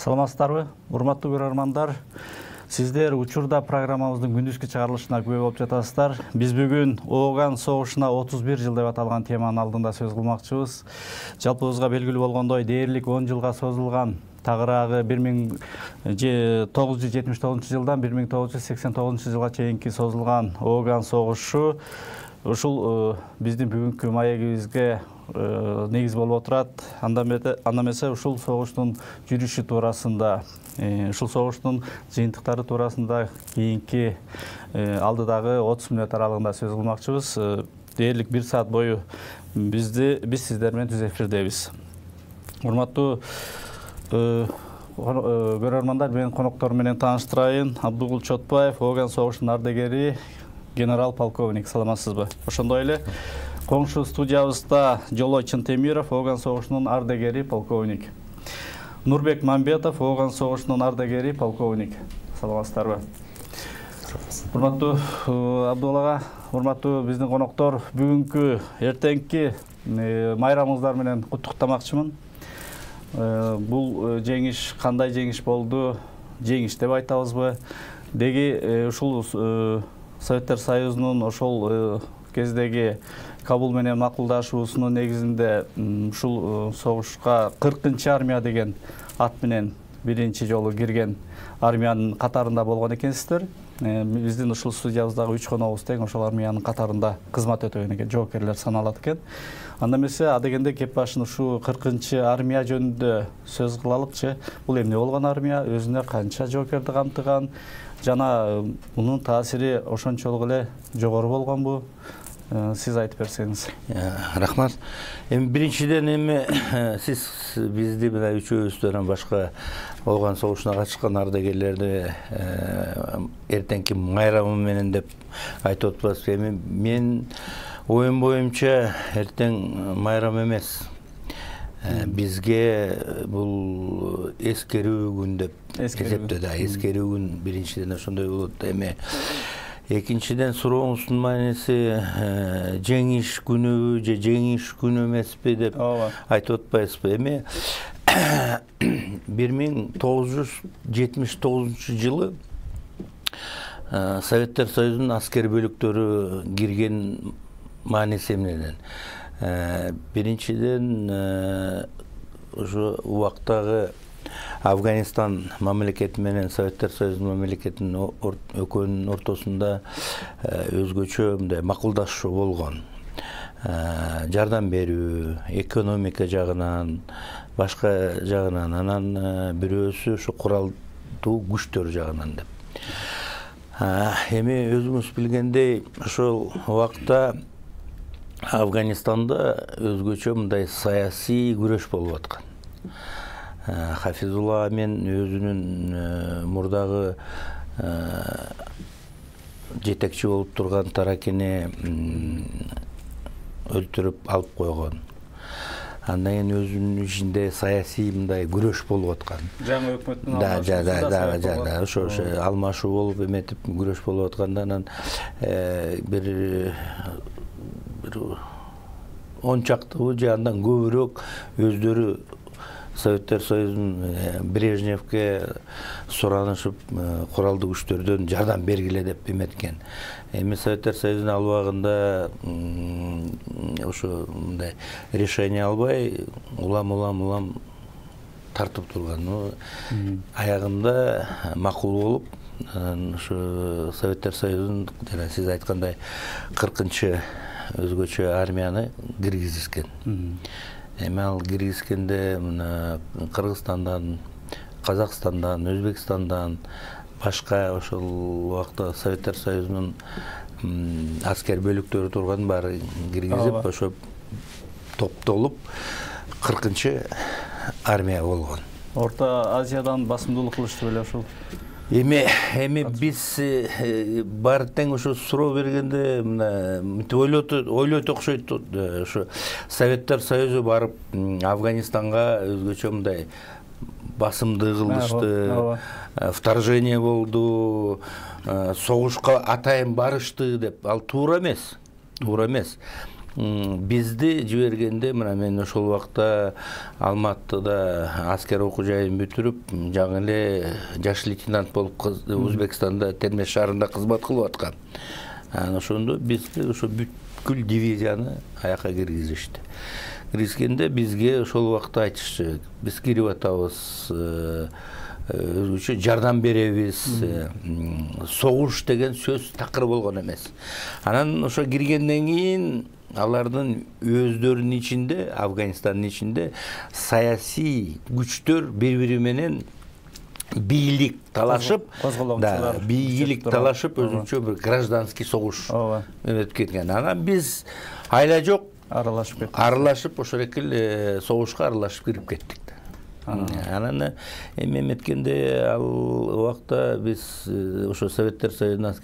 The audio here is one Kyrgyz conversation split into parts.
Саламатсыздарбы, урматтуу көрөрмандар. Сиздер учурда программабыздын күндүзгү чыгарылышына күбө болуп жатасыздар. Биз бүгүн Ооган согушуна 31 жыл деп аталган теманын алдында сөз кылмакчыбыз. Жалпыбызга белгилүү болгондой, дээрлик 10 жылга созулган тагыраагы 1979 жылдан 1989 жылга чейинки созулган Ооган согушу ушул биздин бүгүнкү маегибизге негиз болуп отурат. Анда эмесе ушул согуштун жүрүшү туурасында, ушул согуштун жыйынтыктары туурасында кийинки алдыдагы 30 мүнөт аралыгында сөз кылмакчыбыз. Дээрлик 1 саат бою биз сиздер менен түз эфирдебиз. Урматтуу көрөрмандар, менин коноктор менен тааныштырайын. Абдыгул Чотбаев, Ооган согушунун ардегери, генерал-полковник. Саламатсызбы? Ошондой эле коңшу студиябызда Жолой Чынтемиров, Ооган согушунун ардегери, полковник. Нурбек Мамбетов, Ооган согушунун ардегери, полковник. Саламатсыздарбы? Урматтуу Абдыгул ага, урматтуу биздин коноктор, бүгүнкү эртеңки майрамыңыздар менен куттуктамакчымын. Бул жеңиш кандай жеңиш болду? Жеңиш деп айтабызбы? Деги ушул Советтер Союзунун ошол кездеги Кабул менен макулдашуусунун негизинде ушул согушка 40-чы армия деген ат менен биринчи жолу кирген армиянын катарында болгон экенсиздер. Биздин ушул студиябыздагы 3 коногубуз тең ошол армиянын катарында кызмат өтөгөн экен, жоокерлер саналат экен. Анда эмесе адегенде кеп башын ушу 40-чы армия жөнүндө сөз кылалыкчы. Бул эмне болгон армия, өзүнө канча жоокерди камтыган жана мунун таасири ошончолук эле жогору болгонбу? Сиз айтып берсеңиз. Рахмат. Биринчиден сиз бизди мына үчөөбүздөн башка Ооган согушуна катышкан ардагерлерди эртеңки майрамы менен деп айтып атпайсызбы? Мен оюм боюнча эртең майрам эмес. Бизге бул эскерүү күн деп эсептеди. Эскерүү күн биринчиден ошондой болот. Экинчиден сурооңуздун мааниси жеңиш күнүбү же жеңиш күнү эмеспи деп айтып атпайсызбы? 1979 жылы Советтер Союзунун аскер бөлүктөрү кирген мааниси эмнеден? Биринчиден ошо убактагы Афганистан мамлекети менен Советтер Союзунун мамлекетинин экөөнүн ортосунда өзгөчө мындай макулдашуу болгон. Жардам берүү, экономика жагынан, башка жагынан, анан бирөөсү ушу куралдуу күчтөр жагынан деп. Эми өзүңүз билгендей, ошол убакта Афганистанда өзгөчө мындай саясий күрөш болуп аткан. Хафизулла мен өзүнүн мурдагы жетекчи болуп турган Таракини өлтүрүп алып койгон. Андан кийин өзүнүн ичинде саясий мындай күрөш болуп аткан. Жаңы өкмөттүн ошо алмашуу болуп эметип күрөш болуп атканда, анан бир 10 чактыбы же андан көбүрөөк өздөрү Советтер Союзунун Брежневке суранышып куралдуу күчтөрдөн жардам бергиле деп эметкен. Эми Советтер Союзунун ал убагында ошо мындай решение албай улам тартып турган. Аягында макул болуп, ошо Советтер Союзунун жана сиз айткандай 40-чы өзгөчө армияны киргизишкен. Эми ал киргизгенде мына Кыргызстандан, Казакстандан, Өзбекстандан, башка ошол убакта Советтер Союзунун аскер бөлүктөрү турган баары киргизип, ошо топтолуп 40-чы армия болгон. Орто Азиядан басымдуулук кылышты беле ушул? Эми биз баары тең ушу суроо бергенде ойлойт окшойт. Ушу Советтер Союзу барып Афганистанга өзгөчө мындай басымды кылышты, вторжение болду, согушка атайын барышты деп. Ал туура эмес. бизди жибергенде мына мен ошол убакта Алматыда аскер окуу жайын бүтүрүп, жаңы эле жаш лейтенант болуп Өзбекстанда Термеш шаарында кызмат кылып аткам. Ошондо бизди ошо бүткүл дивизияны аяка киргизишти. Киргизгенде бизге ошол убакта айтышчу, биз кирип атабыз, өзгөчө жардам беребиз, согуш деген сөз такыр болгон эмес. Анан ошо киргенден кийин алардын өздөрүнүн ичинде, Афганистандын ичинде саясий күчтөр бири-бири менен бийлик талашып, өзүнчө бир гражданский согуш өтүп кеткен. Анан биз айла жок аралашып ошол экил согушка аралашып кирип кеттик. Анан эми эметкенде ал убакта биз ошо Советтер Союзунун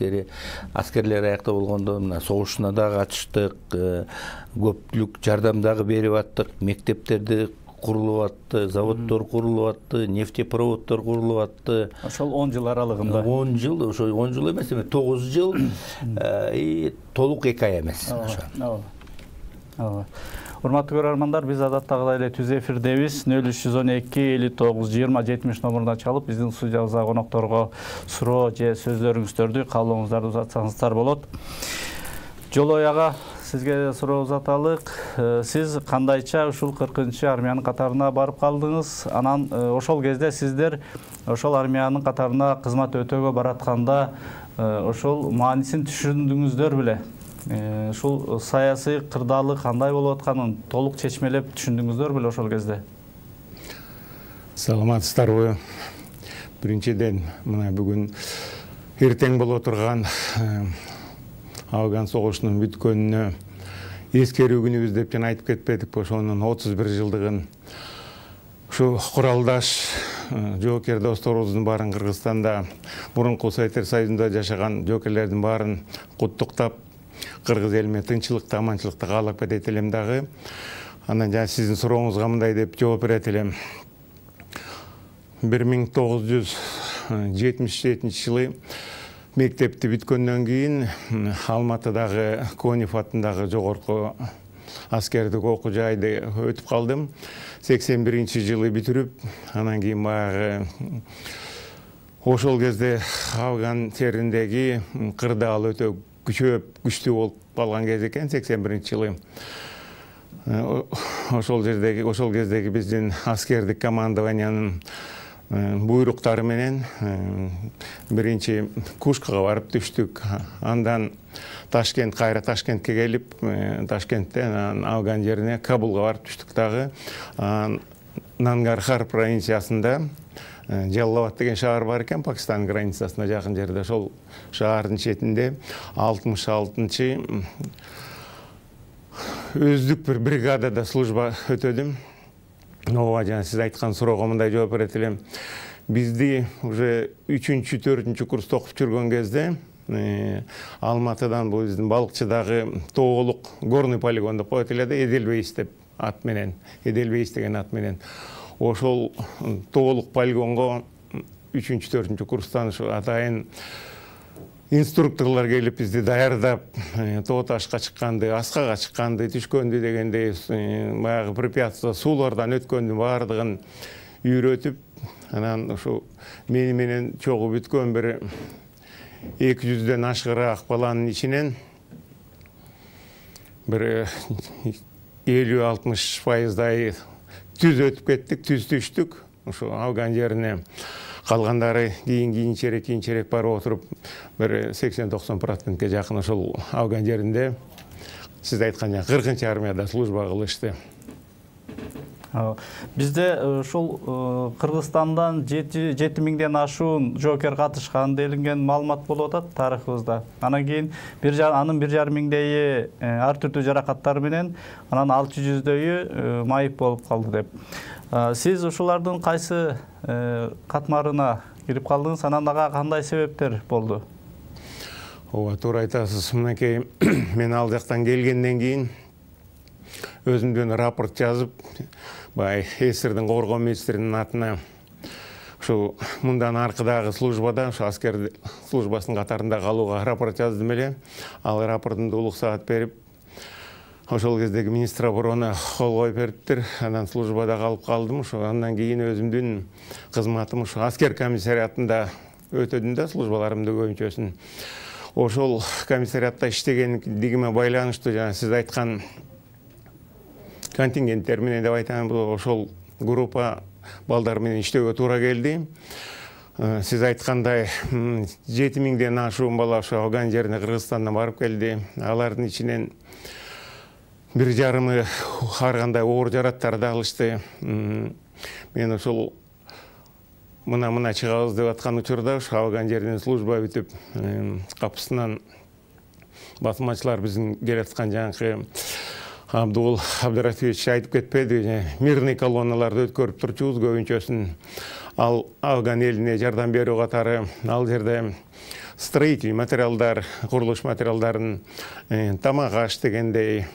аскерлери аякта болгондо мына согушуна дагы катыштык, көпчүлүк жардам дагы берип аттык, мектептерди курулуп атты, заводдор курулуп атты, нефтепроводдор курулуп атты. Ошол 10 жыл аралыгында. 10 жыл, ошо 10 жыл эмес, 9 жыл толук 2 ай эмес. Урматтуу көрөрмандар, биз адаттагыдай эле түз эфирдебиз. 0312-59-20-70 номуруна чалып, биздин студиябызга конокторго суроо же сөздөрүңүздөрдү, каалооңуздарды узатсаңыздар болот. Жолой ага, сизге суроо узаталык. Сиз кандайча ушул 40-армиянын катарына барып калдыңыз? Анан ошол кезде сиздер ошол армиянын катарына кызмат өтөөгө баратканда ошол маанисин түшүндүңүздөр беле? Ушул саясий кырдаалы кандай болуп атканын толук чечмелеп түшүндүңүздөр беле ошол кезде? Саламатсыздарбы? Биринчиден, мына бүгүн эртең боло турган Афган согушунун бүткөнүнө эскерүү күнүбүз деп жана айтып кетпедикпи? Ошонун 31 жылдыгын ушу куралдаш жоокер досторубуздун баарын Кыргызстанда, мурунку Советтер Союзунда жашаган жоокерлердин баарын куттуктап, кыргыз элиме тынччылыкты, аманчылыкты каалап кетет элем дагы. Анан жана сиздин сурооңузга мындай деп жооп берет элем. 1977 жылы мектепти бүткөндөн кийин Алматыдагы Конев атындагы жогорку аскердик окуу жайды өтүп калдым. 81 жылы бүтүрүп, анан кийин баягы ошол кезде Афган жериндеги кырдаал өтө күчтүү болуп калган кез экен, 81 жылы. Ошол кездеги биздин аскердик командованиянын буйруктары менен биринчи Кушкага барып түштүк. Андан кайра Ташкентке келип, Ташкенттен Афган жерине Кабулга барып түштүк дагы. Нангархар провинциясында Жаллабад деген шаар бар экен, Пакистандын границасына жакын жерде. Ошол шаардын четинде 66-чы өздүк бир бригадада служба өтөдүм. Ооба, жана сиз айткан суроого мындай жооп берет элем. Бизди уже 3-4 курста окуп жүргөн кезде Алматыдан бул биздин Балыкчыдагы Тоолук горный полигон деп коет эле да, Эделбейис деп ат менен, Эделбейис деген ат менен. Ошол Тоолук полигонго 3-4 курстан атайын инструкторлор келип бизди даярдап, тоо ташка чыкканды, аскага чыкканды, түшкөндү дегендей, баягы препятствия, суулардан өткөндү баардыгын үйрөтүп, анан ушу менен чогуу бүткөн бир 200дөн ашыгыраак баланын ичинен бир 50-60% түз өтүп кеттик, түз түштүк. Ушу Афган жерине калгандары кийинчерээк барып отуруп, бир 80-90%ке жакын ошол Афган жеринде сиз айткан 40-армияда служба кылышты. Бизде ушул Кыргызстандан 7000ден ашуун жоокер катышкан делинген маалымат болуп атат тарыхыбызда. Анан кийин анын 1500 ар түрдүү жаракаттар менен, анан 600дөйү майып болуп калды деп. Сиз ушулардын кайсы катмарына кирип калдыңыз? Анан ага кандай себептер болду? Ооба, туура айтасыз. Мынакей мен ал жактан келгенден кийин өзүмдөн рапорт жазып, СССРдин коргоо министринин атына ушу мындан аркыдагы службада, ушу аскер службасынын катарында калууга рапорт жаздым эле. Ал рапортумду улук саат берип, ошол кездеги министр обороны кол коюп бериптир. Анан службада калып калдым. Ошо андан кийин өзүмдүн кызматым ушу аскер комиссариатында өтөдүм да, службаларымды көбүнчөсүн. Ошол комиссариатта иштегендигиме байланыштуу жана сиз айткан контингенттер менен деп айтам, ошол группа балдар менен иштөөгө туура келди. Сиз айткандай 7000ден ашуун бала ошо Афган жерине Кыргызстандан барып келди. Алардын ичинен 1,5 ар кандай оор жараттарды алышты. Мен ошол мына чыгабыз деп аткан учурда ошо Афган жеринен служба бүтүп, капысынан басмачылар биздин келаткан жанакы Абдул Абдыратович айтып кетпеди, мирный колонналарды өткөрүп турчубуз көбүнчөсүн. Ал Афган элине жардам берүү катары ал жерде строительный материалдар, курулуш материалдарын, тамак аш дегендей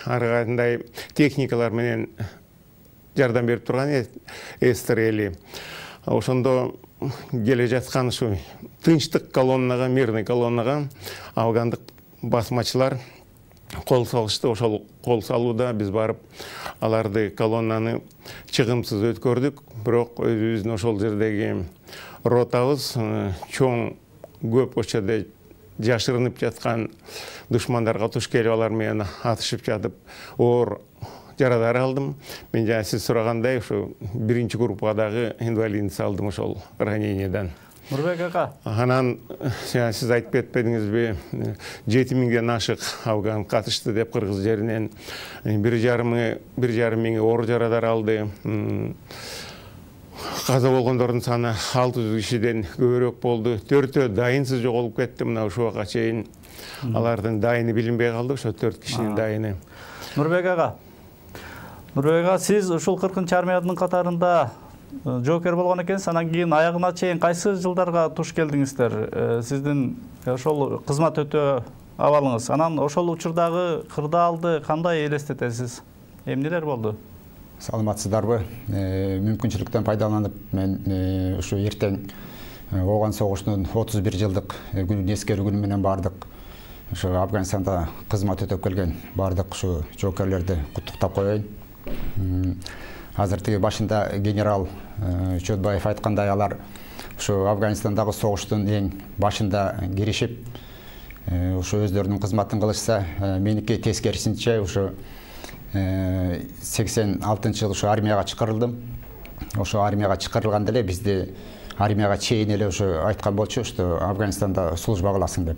ар кандай техникалар менен жардам берип турган эстер эли. Ошондо келе жаткан ушу тынчтык колоннага, мирный колоннага афгандык басмачылар кол салышты. Ошол кол салууда биз барып аларды колоннаны чыгымсыз өткөрдүк. Бирок өзүбүздүн ошол жердеги ротабыз чоң көп очода жашырынып жаткан душмандарга туш келип алар менен атышып жатып оор жарадар алдым. Мен жана сиз сурагандай ушу биринчи группадагы инвалидность алдым ошол ранениядан. Нурбек ака. Анан сиз айтып кетпедиңизби, 7000ден ашык афган катышты деп Кыргыз жеринен 1,5 миң оор жарадар алды. Каза болгондордун саны 600 кишиден көбүрөөк болду. 4 дайынсыз жоголуп кетти. Мына ушуга чейин алардын дайыны билинбей калды, ошо 4 кишинин дайыны. Нурбек ага, сиз ушул 40-чы армиянын катарында жоокер болгон экенсиз. Анан кийин аягына чейин кайсы жылдарга туш келдиңиздер? Сиздин ошол кызмат өтөө абалыңыз. Анан ошол учурдагы кырдаалды кандай элестетесиз? Эмнелер болду? Саламатсыздарбы? Мүмкүнчүлүктөн пайдаланып, мен ушу эртең ооган согуштун 31 жылдык күнүн эскерүү күнү менен бардык ушу Афганистанда кызмат өтөп келген бардык ушу жоокерлерди куттуктап коеюн. Азыр тиги башында генерал Чөтбаев айткандай, алар ушу Афганистандагы согуштун эң башында киришип, ушу өздөрүнүн кызматын кылышса, меники тескерисинче ушу 86-жылы ушу армияга чакырылдым. Ошо армияга чакырылганда эле бизди армияга чейин эле ушу айткан болчу, что Афганистанда служба кыласың деп.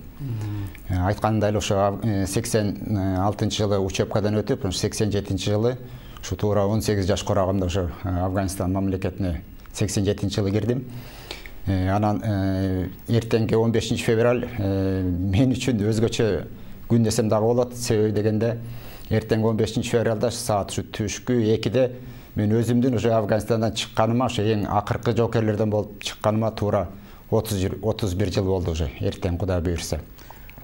Айткандай эле ошо 86-жылы учебкадан өтүп, 87-жылы ушу туура 18 жаш корагымда ушу Афганистан мамлекетине 87-жылы кирдим. Анан эртеңки 15 февраль мен үчүн өзгөчө күн десем дагы болот. Себеби дегенде эртең 15 февралда саат түшкү 2-де мен өзүмдүн уже Афганистандан чыкканыма, ошо эң акыркы жоокерлерден болуп чыкканыма туура 31 жыл болду уже. Эртең Кудай буйрса.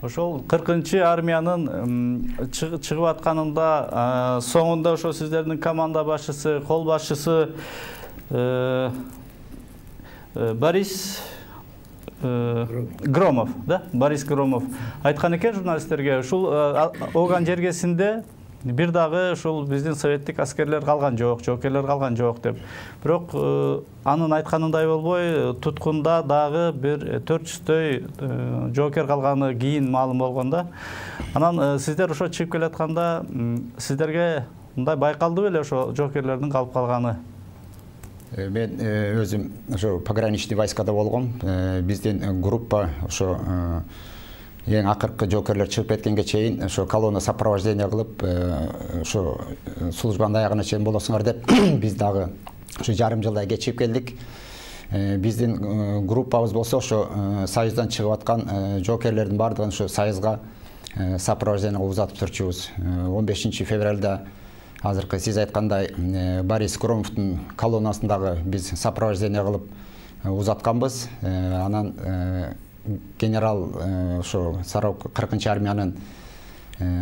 Ошол 40-чы армиянын чыгып атканында соңунда ошо сиздердин команда башчысы, кол башчысы Борис Громов, да? Борис Громов айткан экен журналисттерге, ушул Ооган жергесинде бир дагы ушул биздин советтик аскерлер калган жок, жоокерлер калган жок деп. Бирок анын айтканындай болбой, туткунда дагы бир 400 жоокер калганы кийин маалым болгон да. Анан сиздер ошо чыгып келатканда сиздерге мындай байкалды беле ошо жоокерлердин калып калганы? Мен өзүм ошо пограничный войскада болгом. Биздин группа ошо эң акыркы жоокерлер чыгып кеткенге чейин ошо колонна сопровождение кылып, ошо службанын аягына чейин болосуңар деп биз дагы ошо жарым жылдай кечигип келдик. Биздин группабыз болсо ошо союздан чыгып аткан жоокерлердин бардыгын ошо союзга сопровождение кылып узатып турчубуз. 15 февралда азыркы сиз айткандай Борис Громовдун колоннасындагы биз сопровождение кылып узатканбыз. Анан генерал ошо 40-чы армиянын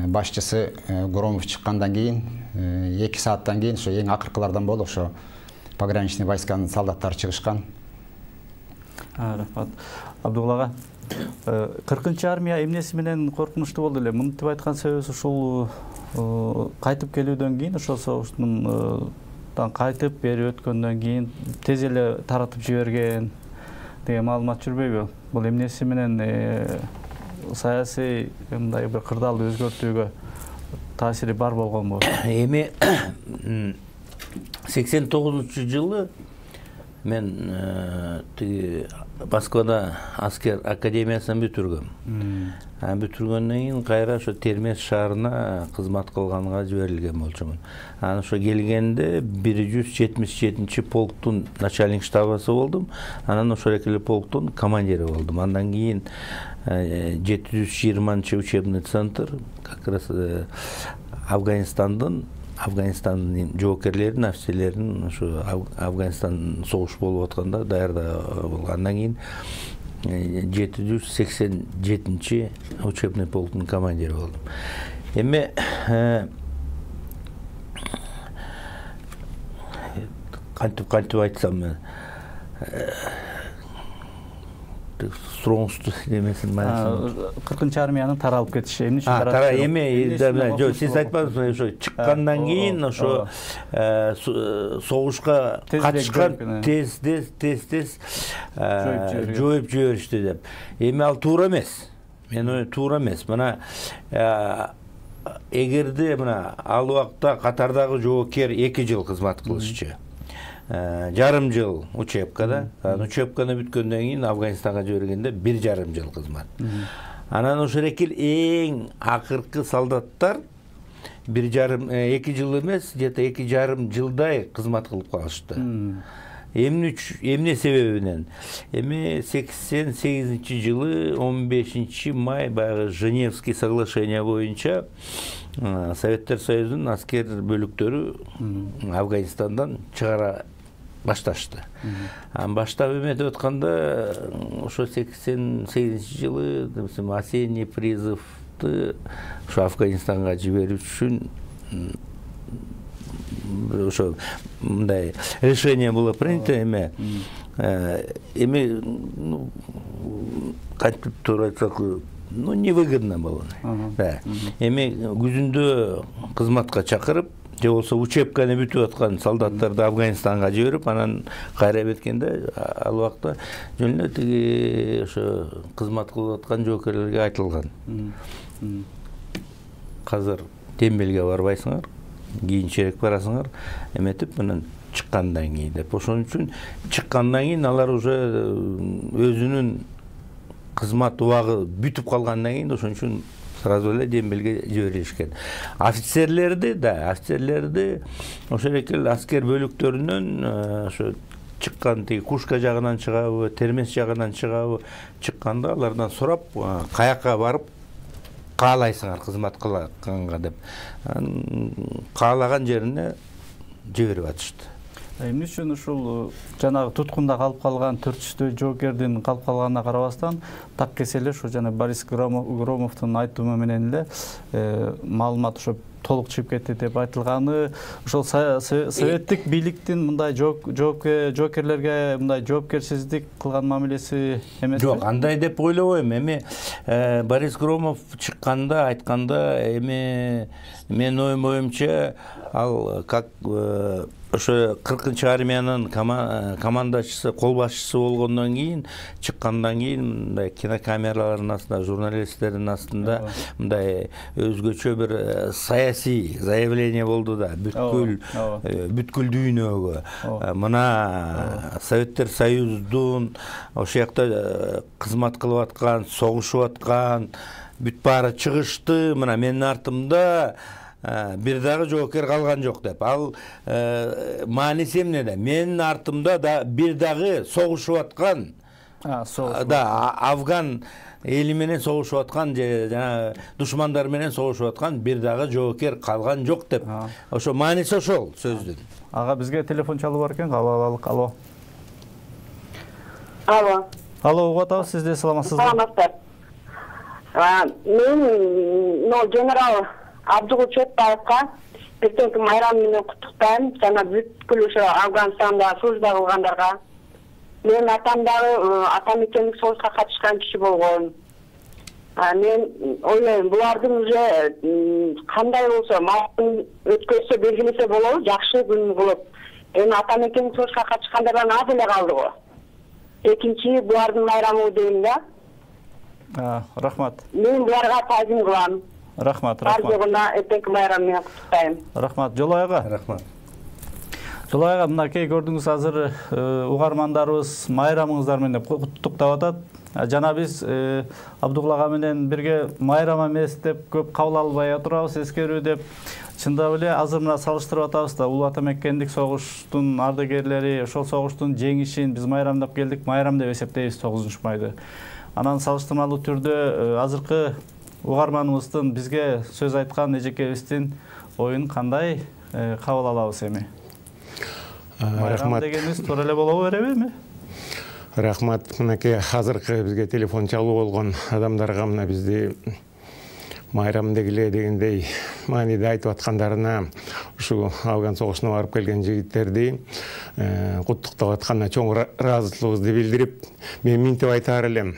башчысы Громов чыккандан кийин 2 сааттан кийин ошо эң акыркылардан болуп ошо пограничный войсканын солдаттары чыгышкан. Рахмат. Абдулла ага. 40 армия эмнеси менен коркунучтуу болду эле? Муну деп айткан себебибиз ушул кайтып келүүдөн кийин ошол согуштун кайтып бери өткөндөн кийин тез эле таратып жиберген деген маалымат жүрбөйбү? Бул эмнеси менен саясий мындай бир кырдаалды өзгөртүүгө таасири бар болгонбу? Эми 89-жылы мен тиги Москвада аскер академиясын бүтүргөм. Бүтүргөндөн кийин кайра ошо Термез шаарына кызмат кылганга жиберилген болчумун. Анан ошо келгенде 177 полктун начальник штабысы болдум. Анан ошол эле полктун командири болдум. Андан кийин 720 учебный центр как раз Афганистандын жоокерлерин, офицерлерин ошо Афганистан согуш болуп атканда даярдаа болгон. Андан кийин 787 учебный полктун командири болдум. Эми кантип айтсам, сурооңузду эмесин мааниси 40 армиянын таралып кетиши эмне үчүн тарап? Жок, сиз айтпадыңызбы, ошо чыккандан кийин ошо согушка катышкан тез жоюп жиберишти деп. Эми ал туура эмес. Мен ой туура эмес. Мына эгерде мына ал убакта катардагы жоокер 2 жыл кызмат кылышчу. Жарым жыл учебкада, учебканы бүткөндөн кийин Афганистанга жибергенде 1,5 жыл кызмат. Анан ошол эң акыркы солдаттар 2 жыл эмес, где-то 2,5 жылдай кызмат кылып калышты. Эмне себебинен? Эми 88-жылы 15 май баягы Женевский соглашение боюнча Советтер Союзунун аскер бөлүктөрү Афганистандан чыгара башташты. Баштап эметип атканда ошо 88-жылы осенний призывды ошо Афганистанга жиберүү үчүн ошо мындай решение было принято. Эми кантип туура айтсак, невыгодно было. Эми күзүндө кызматка чакырып, же болсо учебканы бүтүп аткан солдаттарды Афганистанга жиберип, анан кайра кеткенде ал убакта жөн эле тиги ошо кызмат кылып аткан жоокерлерге айтылган. Азыр дембелге барбайсыңар, кийинчерээк барасыңар, эметип анан чыккандан кийин деп. Ошон үчүн чыккандан кийин алар уже өзүнүн кызмат убагы бүтүп калгандан кийин ошон үчүн сразу эле дембелге жиберилишкен. Офицерлерди ошол эле аскер бөлүктөрүнөн ошо чыккан тиги Кушка жагынан чыгабы, Термез жагынан чыгабы, чыкканда алардан сурап, каяка барып каалайсыңар кызмат кылганга деп. Каалаган жерине жиберип атышты. Эмне үчүн ушул жанагы туткунда калып калган 400 жоокердин калып калганына карабастан так кеселе ошо жана Борис Громовдун айтымы менен эле маалымат ошо толук чыгып кетти деп айтылганы, ошол советтик бийликтин мындай жоокерлерге мындай жоопкерсиздик кылган мамилеси эмеспи? Жок, андай деп ойлобойм. Эми Борис Громов чыкканда айтканда, эми менин оюмча ал как ошо 40 армиянын командачысы, кол башчысы болгондон кийин, чыккандан кийин мындай кинокамералардын астында, журналисттердин астында мындай өзгөчө бир саясий заявление болду да, бүткүл дүйнөгө. Мына Советтер Союздун ошол жакта кызмат кылып аткан, согушуп аткан бүт баары чыгышты, мына менин артымда бир дагы жоокер калган жок деп. Ал мааниси эмнеде? Менин артымда да бир дагы согушуп аткан, Афган эли менен согушуп аткан, жана душмандар менен согушуп аткан бир дагы жоокер калган жок деп. Ошо мааниси ошол сөздүн. Ага, бизге телефон чалып бар экен, алалык. Алло. Алло, угуп атабыз, сиз де саламатсызбы? Саламатсыздар. Мен генерал Абдугул Чотбаевка эртеңки майрам менен куттуктайм, жана бүткүл ошо Афганистанда служба кылгандарга. Мен атам дагы атамекендик согушка катышкан киши болгон. Мен ойлойм, булардын уже кандай болсо, өткөзсө белгилесе болобу, жакшы күн кылып. Эми атамекендик согушка катышкандардан аз эле калды го. Экинчи булардын майрамы дейм да. Рахмат. Мен буларга таазим кылам. Рахмат. Бар жогуна эртеңки майрам менен куттуктайм. Рахмат. Жолой ага. Рахмат. Жолой ага, мынакей көрдүңүз, азыр угармандарыбыз майрамыңыздар менен куттуктап атат. Жана биз Абдугул менен бирге майрам эмес деп көп кабыл албай отурабыз, эскерүү деп. Чындап эле азыр мына салыштырып атабыз да, улуу атамекендик согуштун ардагерлери ошол согуштун жеңишин биз майрамдап келдик, майрам деп эсептейбиз 9-майды. Анан салыштырмалуу түрдө азыркы угарманыбыздын бизге сөз айткан эжекебиздин оюн кандай кабыл алабыз эми? Рахмат дегенибиз туура эле боло береби эми? Рахмат. Мынакей азыркы бизге телефон чалуу болгон адамдарга мына бизди майрам дегиле дегендей мааниде айтып аткандарына, ушу Афган согушуна барып келген жигиттерди куттуктап атканына чоң ыраазычылыгыбызды билдирип, мен минтип айтаар элем.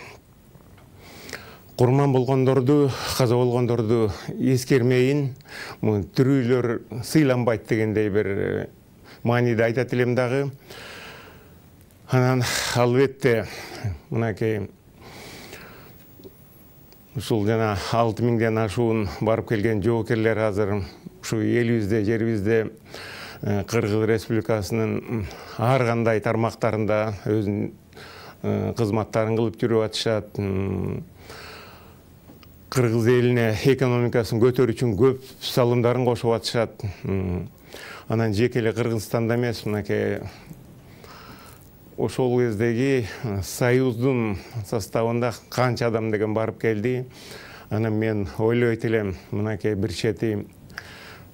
Курман болгондорду, каза болгондорду эскермейин, тирүүлөр сыйланбайт дегендей бир мааниде айтат элем дагы. Анан албетте мынакей ушул жана 6000ден ашуун барып келген жоокерлер азыр ушу элибизде, жерибизде Кыргыз Республикасынын ар кандай тармактарында өзүнүн кызматтарын кылып жүрүп атышат. Кыргыз элине экономикасын көтөрүү үчүн көп салымдарын кошуп атышат. Анан жеке эле Кыргызстанда эмес, мынакей ошол кездеги союздун составында канча адам деген барып келди. Анан мен ойлойт элем, мынакей бир чети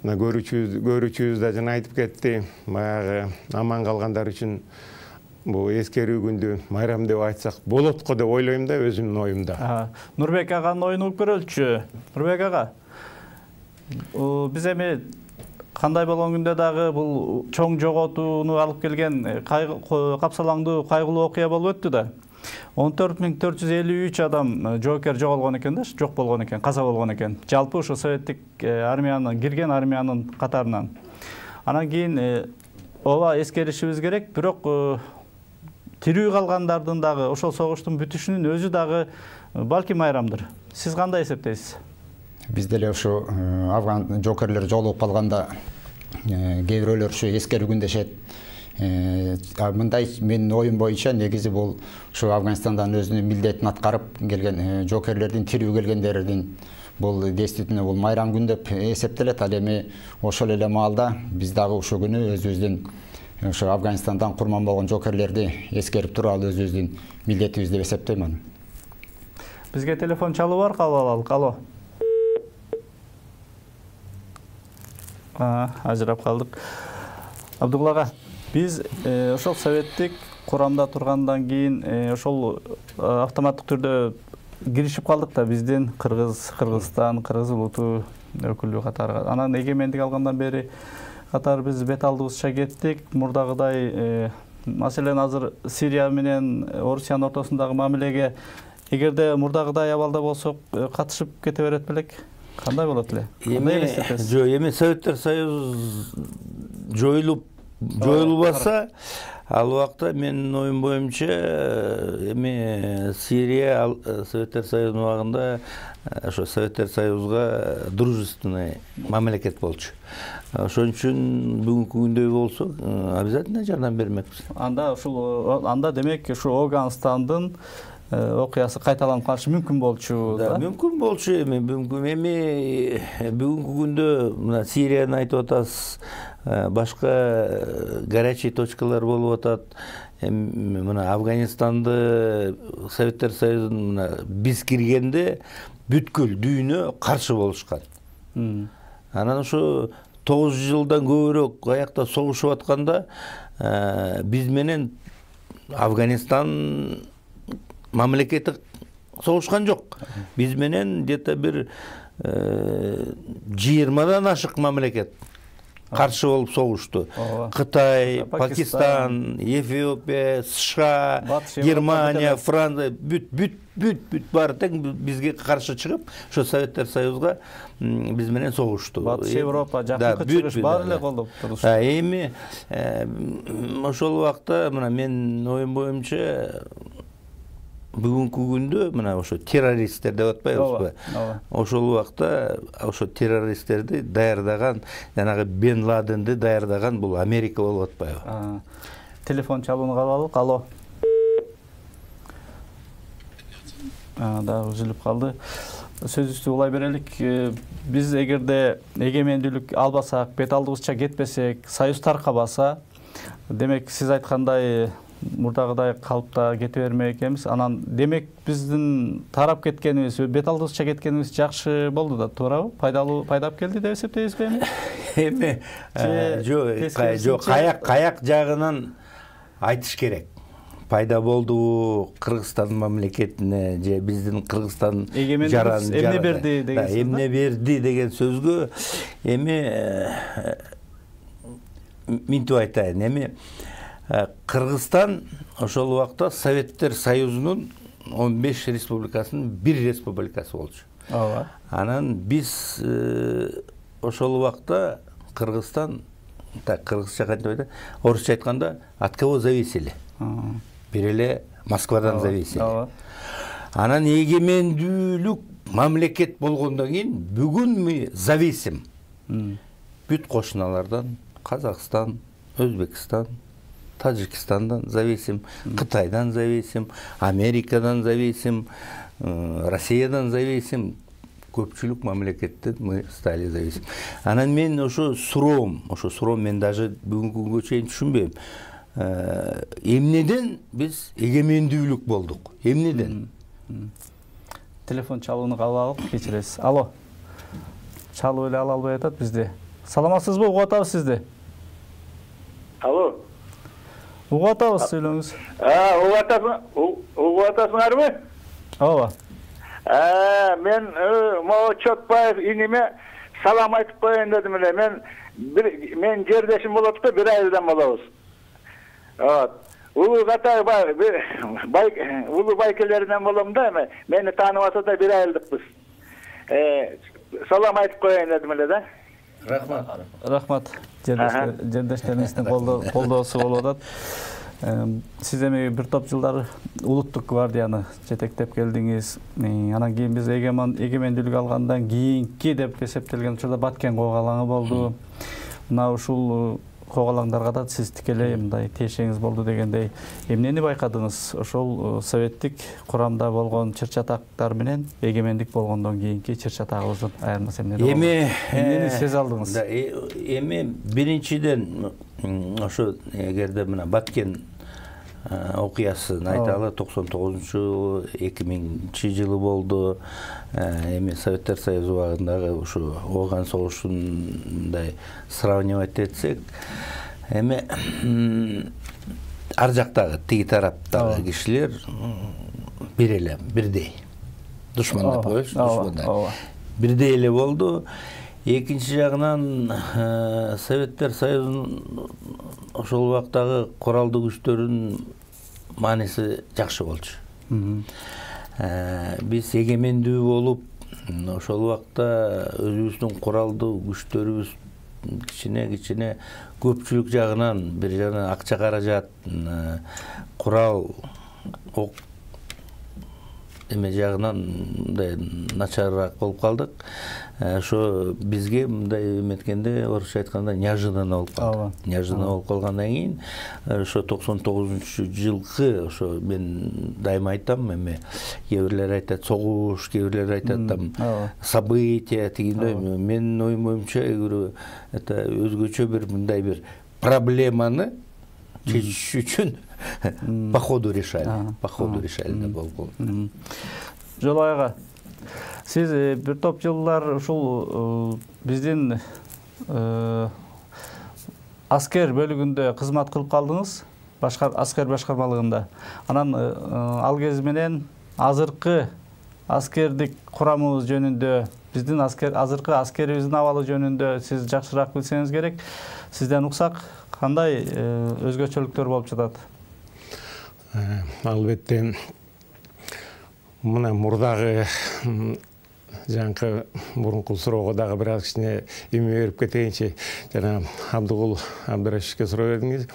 көрүүчүбүз да жана айтып кетти, баягы аман калгандар үчүн бул эскерүү күндү майрам деп айтсак болот го деп ойлойм да, өзүмдүн оюмда. Нурбек аганын оюн угуп көрөлүчү. Нурбек ага, биз эми кандай болгон күндө дагы бул чоң жоготууну алып келген капсалаңдуу кайгылуу окуя болуп өттү да. 14453 адам жоокер жоголгон экен да, жок болгон экен, каза болгон экен. Жалпы ушу советтик армиянын кирген армиянын катарынан. Анан кийин ооба эскеришибиз керек, бирок тирүү калгандардын дагы ошол согуштун бүтүшүнүн өзү дагы балки майрамдыр. Сиз кандай эсептейсиз? Биз деле ушу афган жоокерлер жоголуп калганда кээ бирөөлөр ушу эскерүү күн дешет. Мындай менин оюм боюнча негизи бул ушу Афганистандан өзүнүн милдетин аткарып келген жоокерлердин, тирүү келгендердин бул действительно бул майрам күн деп эсептелет. Ал эми ошол эле маалда биз дагы ушул күнү өзүбүздүн ушу Афганистандан курман болгон жоокерлерди эскерип туралы өзүбүздүн милдетибиз деп эсептейм аны. Бизге телефон чалуу бар, кабыл алалык. Алло. Ажырап калдык. Абдугул ага, биз ошол советтик курамда тургандан кийин ошол автоматтык түрдө киришип калдык да биздин Кыргызстан, Кыргыз улуту өкүлү катары. Анан эгемендик алгандан бери катары биз бет алдыбызча кеттик. Мурдагыдай маселен азыр Сирия менен Орусиянын ортосундагы мамилеге эгерде мурдагыдай абалда болсок катышып кете берет белек? Кандай болот эле? Эми Советтер Союз жоюлбаса, ал убакта менин оюм боюнча эми Сирия Советтер Союзунун убагында ошо Советтер Союзга дружественный мамлекет болчу. Ошон үчүн бүгүнкү күндөй болсо обязательно жардам бермекпиз. Анда демек ушу Афганистандын окуясы кайталанып калышы мүмкүн болчу да? Мүмкүн болчу эми бүгүнкү күндө мына Сирияны айтып атасыз, башка горячий точкалар болуп атат. Мына Афганистанды Советтер Союзунун биз киргенде бүткүл дүйнө каршы болушкан. Анан ушу 9 жылдан көбүрөөк аякта согушуп атканда биз менен Афганистан мамлекети согушкан жок. Биз менен где-то бир 20дан ашык мамлекет каршы болуп согушту. Кытай, Пакистан, Эфиопия, США, Германия, Франция бүт баары тең бизге каршы чыгып, ошо Советтер Союзга биз менен согушту. Батыш Европа, Жакынкы Чыгыш баары эле колдоп турушты. Эми ошол убакта мына менин оюм боюнча бүгүнкү күндө мына ошо террористтер деп атпайбызбы? Ошол убакта ошо террористтерди даярдаган, жанагы Бен Ладенди даярдаган бул Америка болуп атпайбы? Телефон чалууну кабыл алык. Алло. Да, үзүлүп калды. Сөзүбүздү улай берелик. Биз эгерде эгемендүүлүк албасак, бет алдыбызча кетпесек, союз таркабаса, демек сиз айткандай мурдагыдай калыпта кете бермек экенбиз. Анан демек биздин тарап кеткенибиз, бет алдыбызча кеткенибиз жакшы болду да, туурабы? Пайдалып келди деп эсептейсизби эми? Эми жок, каяк жагынан айтыш керек. Пайда болду Кыргызстан мамлекетине же биздин Кыргызстан эмне берди деген сөз. Эмне берди деген сөзгө эми минтип айтайын. Эми Кыргызстан ошол убакта Советтер Союзунун 15 республикасынын бир республикасы болчу. Ооба. Анан биз ошол убакта Кыргызстан, кыргызча кантип айтат? Орусча айтканда от кого зависели? Бир эле Москвадан зависели. Анан эгемендүүлүк мамлекет болгондон кийин бүгүн мы зависим. Бүт кошуналардан, Казакстан, Өзбекстан, Тажикстандан зависим, Кытайдан зависим, Америкадан зависим, Россиядан зависим. Көпчүлүк мамлекеттен мы стали зависим. Анан мен ошо суроом мен даже бүгүнкү күнгө чейин түшүнбөйм. Эмнеден биз эгемендүүлүк болдук? Эмнеден? Телефон чалууну кабыл алып кечиресиз. Алло. Чалуу эле ала албай атат бизди. Саламатсызбы? Угуп атабыз сизди. Алло. Угуп атабыз, сүйлөңүз. Угуп атасыңарбы? Ооба. Мен могу Чотбаев иниме салам айтып коеюн дедим эле. Мен жердешим болот да, бир айылдан болобуз. Улуу катар улуу байкелеринен болом да, мени тааныбаса да бир айылдыкпыз. Салам айтып коеюн дедим эле да. Рахмат. Жердештериңиздин колдоосу болуп атат. Сиз эми бир топ жылдар улуттук гвардияны жетектеп келдиңиз. Анан кийин биз эгемендүүлүк алгандан кийинки деп эсептелген учурда Баткен коогалаңы болду. Мына ушул коогалаңдарга да сиз тикелей мындай тиешеңиз болду дегендей. Эмнени байкадыңыз? Ошол советтик курамда болгон чыр-чатактар менен эгемендик болгондон кийинки чыр-чатагыбыздын айырмасы эмне? Эмнени сезе алдыңыз? Эми биринчиден ошо эгерде мына Баткен окуясын айталы, 99-жылы 2000-жылы болду. Эми Советтер Союзу убагындагы ушу Ооган согушундай сравнивать этсек, эми ар жактагы тиги тараптагы кишилер бир эле, бирдей. Душман деп коелучу, душмандар. Бирдей эле болду. Экинчи жагынан Советтер Союзунун ошол убактагы куралдуу күчтөрүнүн мааниси жакшы болчу. Биз эгемендүү болуп, ошол убакта өзүбүздүн куралдуу күчтөрүбүз кичине көпчүлүк жагынан, бир жагынан акча каражат, курал, ок эме жагынан мындай начарыраак болуп калдык. Ошо бизге мындай эметкенде, орусча айтканда, неожиданно болуп калды. Неожиданно болуп калгандан кийин, ошо 99-жылкы, ошо мен дайыма айтам, эме кээ бирлер айтат согуш, кээ бирлер айтат там события дегендей. Менин оюм боюнча это өзгөчө бир мындай бир проблеманы чечиш үчүн по ходу решали. По ходу решали да болду. Жолой ага, сиз бир топ жылдар ушул биздин аскер бөлүгүндө кызмат кылып калдыңыз, аскер башкармалыгында. Анан ал кез менен азыркы аскердик курамыбыз жөнүндө биздин азыркы аскерибиздин абалы жөнүндө сиз жакшыраак билсеңиз керек. Сизден уксак, кандай өзгөчөлүктөр болуп жатат? Албетте мына мурдагы жаңкы мурунку суроого дагы бир аз кичине эме берип кетейинчи. Жана Абдыгул Абдырашевке суроо бердиңиз.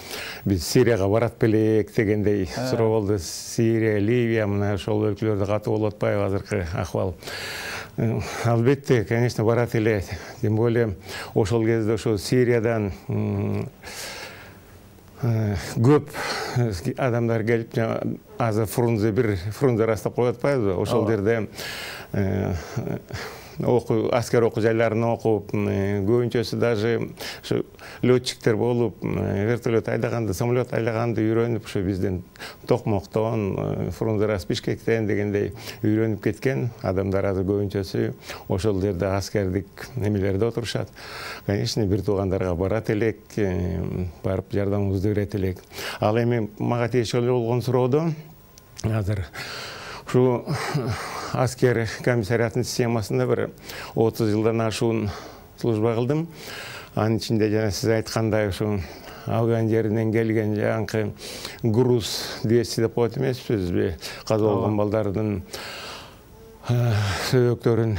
Биз Сирияга барат белек дегендей суроо болду. Сирия, Ливия, мына ошол өлкөлөрдө катуу болуп атпайбы азыркы акыбал? Албетте, конечно, барат эле. Тем более ошол кезде ошо Сириядан көп адамдар келип, азыр Фрунзе растап коюп атпайбызбы? Ошол жерде аскер окуу жайларын окуп, көбүнчөсү даже ушу летчиктер болуп, вертолет айдаганды, самолет айдаганды үйрөнүп, ушу бизден Токмоктон, Фрунзе Бишкектен дегендей үйрөнүп кеткен адамдар азыр көбүнчөсү ошол жерде аскердик немелерде отурушат. Конечно, бир туугандарга барат элек, барып жардамыбызды берет элек. Ал эми мага тиешелүү болгон суроодо азыр ушу аскер комиссариятынын системасында бир 30 жылдан ашуун служба кылдым. Анын ичинде жана сиз айткандай ушу Афган жеринен келген жаңкы груз 200 деп коет эмеспизби? Каза болгон балдардын сөбөктөрүн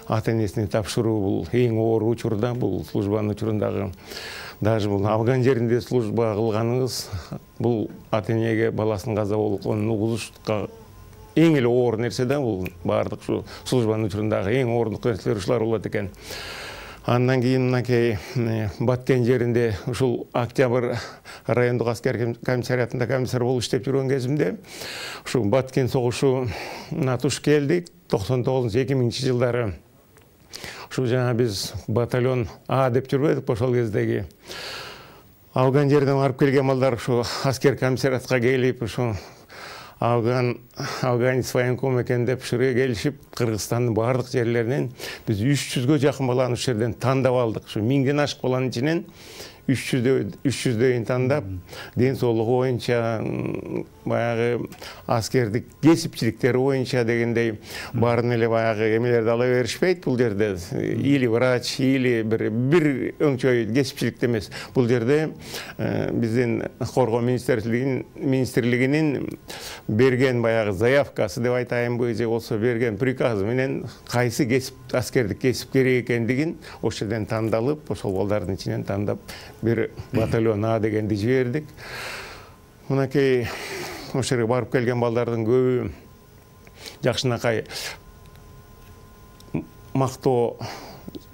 ата-энесине тапшыруу бул эң оор учурда, бул службанын учурундагы. Даже бул Афган жеринде служба кылганыңыз бул ата-энеге баласынын каза болгонун угузушка эң эле оор нерсе да, бул баардык ушу службанын учурундагы эң оорундук нерселер ушулар болот экен. Андан кийин мынакей Баткен жеринде ушул Октябрь райондук аскер комиссариятында комиссар болуп иштеп жүргөн кезимде ушул Баткен согушуна туш келдик 99-2000 жылдары. Ушу жана биз батальон А деп жүрбөдүк ошол кездеги. Афган жерден барып келген балдар ушу аскер комиссариятка келип, ушу Афганец военком экен деп ушуга келишип, Кыргызстандын баардык жерлеринен биз 300гө жакын баланы ушул жерден тандап алдык. Ушу 1000ден ашык баланын ичинен 300дөйүн тандап, ден соолугу боюнча, баягы аскердик кесипчиликтери боюнча дегендей баарын эле баягы эмелерди ала беришпейт бул жерде. Или врач, или бир өңчөй кесипчиликте эмес. Бул жерде биздин коргоо министрлигинин берген баягы заявкасы деп айтайынбы, же болсо берген приказы менен кайсы кесип аскердик кесип керек экендигин ошол жерден тандалып, ошол балдардын ичинен тандап бир батальон А дегенди жибердик. Мынакей ошол жерге барып келген балдардын көбү жакшынакай мактоо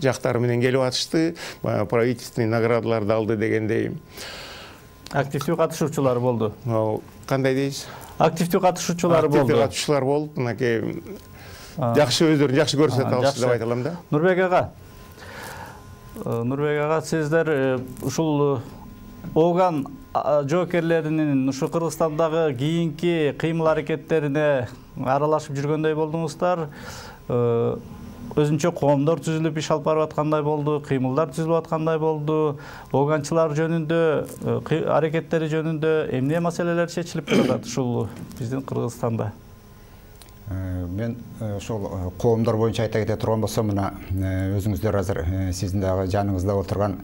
жактары менен келип атышты, правительственный наградаларды алды дегендей. Активдүү катышуучулар болду. Кандай дейсиз? Активдүү катышуучулар болду. Активдүү катышуучулар болуп, мынакей жакшы өздөрүн жакшы көрсөтүп алышты деп айта алам да. Нурбек ага, сиздер ушул Афган жоокерлеринин ушу Кыргызстандагы кийинки кыймыл аракеттерине аралашып жүргөндөй болдуңуздар. Өзүнчө коомдор түзүлүп иш алып барып аткандай болду, кыймылдар түзүлүп аткандай болду. Афганчылар жөнүндө, аракеттери жөнүндө эмне маселелер чечилип жатат ушул биздин Кыргызстанда? Мен ошол коомдор боюнча айта кете турган болсом, мына өзүңүздөр азыр сиздин дагы жаныңызда отурган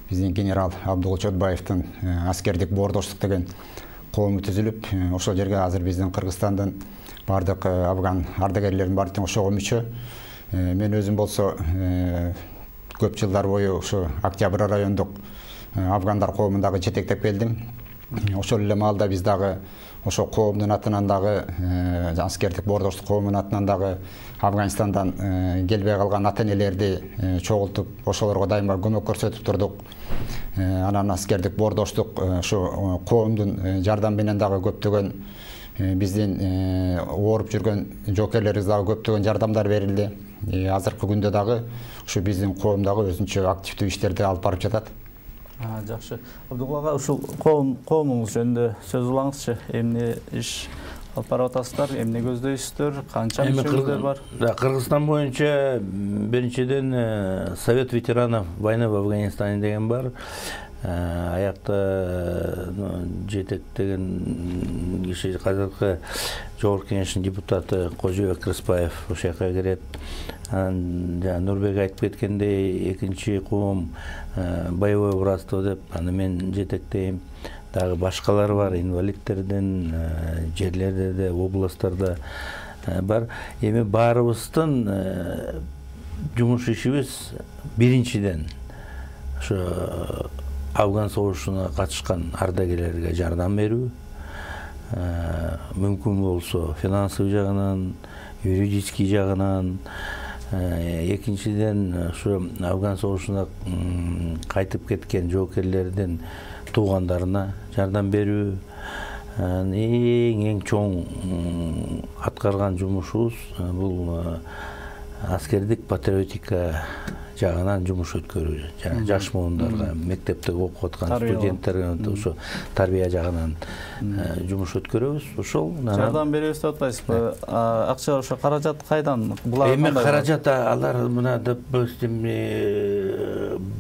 биздин генерал Абдыгул Чотбаевдин аскердик боордоштук деген коому түзүлүп, ошол жерге азыр биздин Кыргызстандын баардык афган ардагерлеринин баары тең ошого мүчө. Мен өзүм болсо көп жылдар бою ушу Октябрь райондук афгандар коомундагы жетектеп келдим. Ошол эле маалда биз дагы ошо коомдун атынан дагы аскердик боордоштук коомунун атынан дагы Афганистандан келбей калган ата-энелерди чогултуп, ошолорго дайыма көмөк көрсөтүп турдук. Анан аскердик боордоштук ушу коомдун жардамы менен дагы көптөгөн биздин ооруп жүргөн жоокерлерибиз дагы көптөгөн жардамдар берилди. Азыркы күндө дагы ушу биздин коом дагы өзүнчө активдүү иштерди алып барып жатат. Жакшы. Абдыгул ага, ушул коомуңуз жөнүндө сөз кылаңызчы. Эмне иш алып барып атасыздар, эмне көздөйсүздөр, канча мүчөлөр бар? Кыргызстан боюнча биринчиден Совет ветеранов войны в Афганистане деген бар. аякта жетектеген киши азыркы Жогорку Кеңештин депутаты Кожобек Кырсбаев ошол жака кирет. Анан Нурбек айтып кеткендей, экинчи кум боевой братство деп аны мен жетектейм. Дагы башкалар бар, инвалидтерден жерлерде де, областтарда бар. Эми баарыбыздын жумуш ишибиз биринчиден ошо Афган согушуна катышкан ардагерлерге жардам берүү, мүмкүн болсо финансовый жагынан, юридический жагынан, экинчиден ошо Афган согушуна кайтып кеткен жоокерлердин туугандарына жардам берүү. Эң чоң аткарган жумушубуз бул аскердик патриотика жагынан жумуш өткөрүү. Жаш муундарга, мектепте окуп аткан студенттерге ошо тарбия жагынан жумуш өткөрөбүз. Ошол жардам беребиз деп атпайсызбы? Акча ошо каражат кайдан? Булар эми каражат алар мына допустим